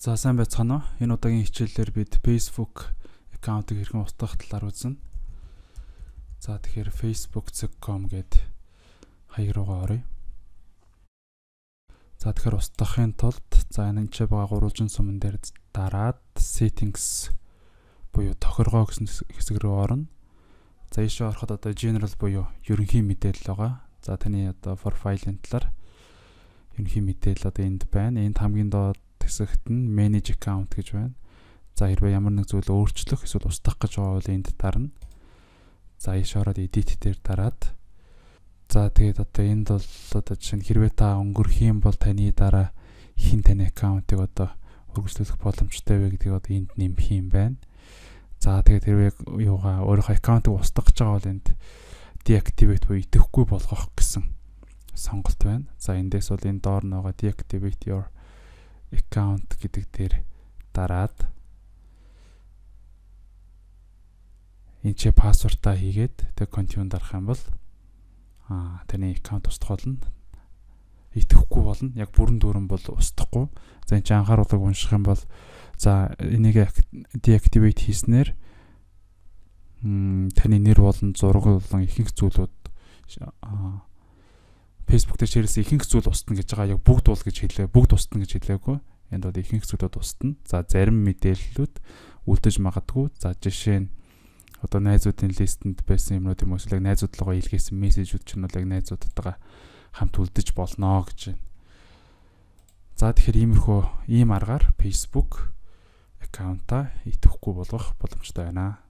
За сайн байцгаана уу? Энэ удаагийн хичээлээр бид Facebook аккаунтыг хэрхэн устгах талаар үзнэ. За тэгэхээр facebook.com гээд хаяг руугаа оръё. За тэгэхээр устгахын тулд энэ ч байгаа гурвалжин суман дээр дараад settings буюу тохиргоо гэсэн хэсэг рүү орно. За ийшээ ороход одоо general буюу ерөнхий мэдээлэл байгаа. За таны одоо profile-ийн талаар ерөнхий мэдээлэл одоо энд байна. Энд хамгийн доод хэсэгт нь manage account гэж байна. За хэрвээ ямар нэг зүйл өөрчлөх эсвэл устгах гэж байгаа бол энд дарна. За ийш ороод edit дээр дараад. За тэгээд одоо энд бол одоо жишээ нь хэрвээ та өнгөрөх юм бол таны дараа хин таны аккаунтыг одоо үргэлжлүүлэх боломжтой вэ гэдгийг одоо энд нэмэх юм байна. За тэгээд хэрвээ юугаа өөрийнхөө аккаунтыг устгах гэж байгаа бол энд deactivate буюу идэхгүй болгох гэсэн сонголт байна. За эндээс бол энэ доор нөгөө deactivate your account гэдэг дээр дараад энэ ч пассвортаа хийгээд тэг continue дарах юм бол таны аккаунт устгах болно. Идэхгүй болно. Яг бүрэн дүүрэн бол устгахгүй. За энэ ч анхааруулгыг унших юм бол за энийг deactivate хийснээр таны нэр болон зураг болон ихэнх зүйлүүд Facebook дээр ширээс ихэнх зүйл устна гэж байгаа. Яг бүгд бол гэж хэлээ. Бүгд устна гэж хэлээгүй. Энд бол ихэнх зүйлүүд устна. За зарим мэдээллүүд үлдэж магадгүй. За жишээ нь одоо найзуудын листэнд байсан юмнууд юм эсвэл найзуудлага илгээсэн мессежүүд ч нь бол яг найзуудтайгаа хамт үлдэж болно гэж байна. За тэгэхээр ийм аргаар Facebook аккаунтаа идэхгүй болгох боломжтой байна.